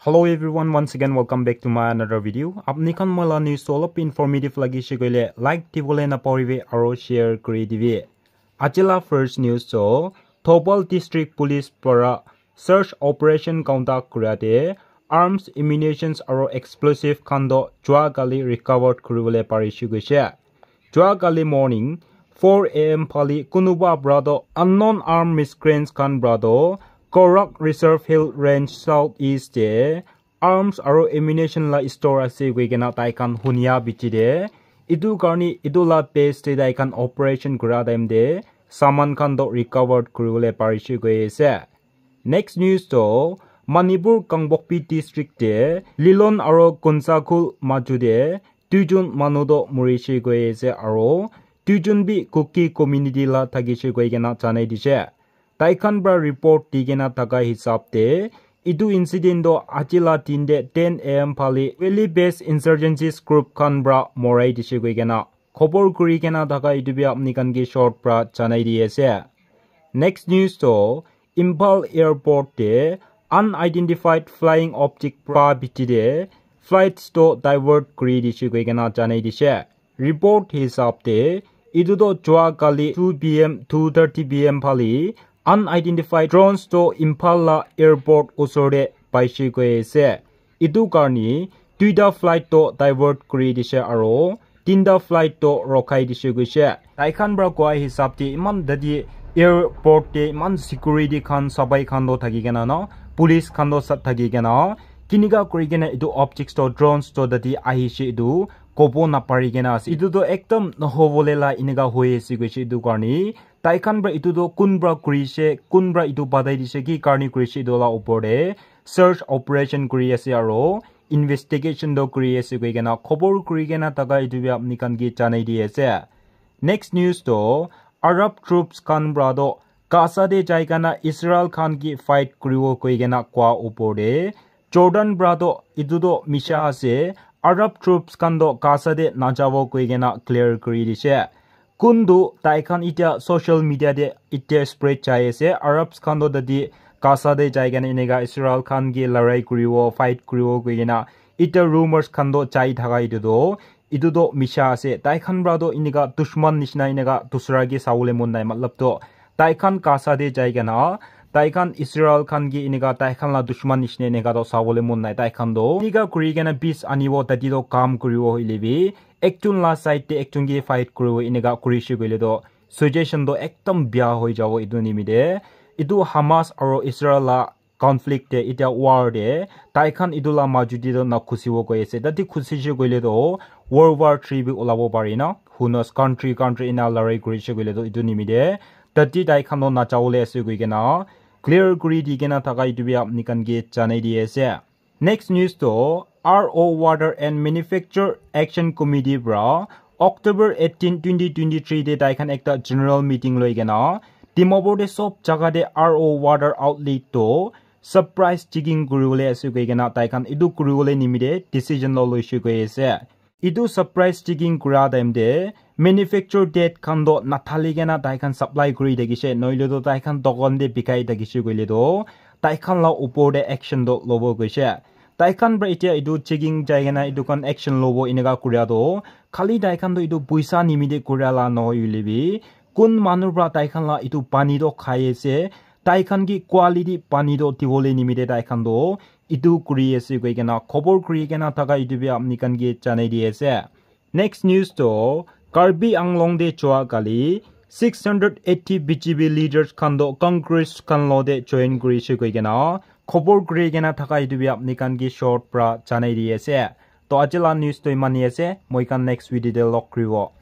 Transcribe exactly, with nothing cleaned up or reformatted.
Hello everyone, once again welcome back to my another video. Apni khan moi la news to olop informative lagi she koile like dibole na poribe aro share kuri dibe. Ajila first news to Thoubal District Police para search operation conduct kura te arms, ammunitions aro explosive khan do jua kali recovered kuribole pari she koise. Jua kali morning four a m phali kunuba para do unknown armed miscreants khan para do Korak Reserve Hill Range South East te arms aro ammunition la store ase koi kena tai khan hunia bichi de. Etu karni etu la base te tai khan operation kura time te saman khan do recovered kuribole pari she koi ase. Next news to Manipur Kangpokpi district te Lilon aro Kunsakhul maju te duijon manu do muri she koi ase aro duijon bi Kuki community la thaki she koi kena janai dishe. Tai khan para report di kena thaka hisab te etu incident to aji la din te ten a m phali Valley based insurgencies group khan para morai dishe koi kena khobor kuri kena thaka etu bi apni khan ke short para janai di ase. Next news to Imphal airport te unidentified flying object para bichi de flights to divert kuri dishe koi kena janai dishe. Report hisab te etu to jua kali two p m two thirty p m phali unidentified drones to Imphal la airport usor te paishe koi ase. Etu karni duita flight to divert kuri dishe aro tinta flight to rokhai dishe koishe. Tai khan para koa hisab te iman dadi airport te iman security khan sabai khan to thaki kena na police khan to sat thaki kena kinika kuri kena etu objects to drones to dadi ahishe etu kobo napari kena ase. Etu to ekdam nohobole la enika hoi ase koishe etu karni tai khan para etu to kun para kurishe kun para etu batai dishe ki karni kurishe etu la upor te search operation kuri ase aro investigation to kuri ase koi kena khobor kuri kena thaka etu bi apni khan ke janai di ase. Next news to Arab troops khan para to Gaza te jai kena Israel khan ke fight kuribo koi kena koa upor te Jordan para to etu to misha ase. Arab troops khan to Gaza te najabo koi kena clear kuri dishe. Kun tu tai khan itya social media te itya spread jai ase. Arabs khan to tadi Gaza te jai kena enika Israel khan ke larai kuribo, fight kuribo koi kena itya rumors khan to jai thaka etu to, etu to misha ase. Tai khan para to enika dushman nishina enika dusra ke sabole mon nai. Matlab to tai khan Gaza te jai kena tai khan Israel khan ke enika tai khan la dushman nishina enika to sabole mon nai. Tai khan to enika kuri kena peace anibo tadi to kam kuribo hoile bi ekjon la side te ekjon ke fight kuribo enika kurishe koile to situation to ekdam bia hoi jabo etu nimite. Etu Hamas aro Israel la conflict te itya war te tai khan etu la maju te to na khusibo koi ase. Tadi khusishe koile to World War three bi ulabo pare na. Who knows, country country ena larai kurishe koile to etu nimite tadi tai khan to najawole ase koi kena clear kuri di kena thaka etu bi apni khan ke janai di ase. Next news to R O Water and Manufacture Action Committee para October eighteen, twenty twenty-three te tai khan ekta general meeting loi kena Dimapur te sob jaga te R O water outlet to surprise checking kuribole ase koi kena tai khan etu kuribole nimite decision lo loishe koi ase. Etu surprise checking kura time te manufacture date khan to nathali kena tai khan supply kuri thakishe, noile to tai khan dokan te bikai thakishe koile to tai khan la upor te action to lobo koishe. Tai khan para itya etu checking jai kena etu khan action lobo enika kuria to khali tai khan to etu puisa nimite kuria la nohoi hoile bi kun manu para tai khan la etu pani to khai ase, tai khan ke quality pani to dibole nimite tai khan to etu kuri ase koi kena khobor kuri kena thaka etu bi apni khan ke janai di ase. Next news to Karbi Anglong te jua kali six hundred eighty B J P leaders khan to Congress khan lo te join kurishe koi kena khobor kuri kena thaka etu bi apni khan ke short para janai di ase. To aji la news to iman hi ase, moi khan next video te log kuribo.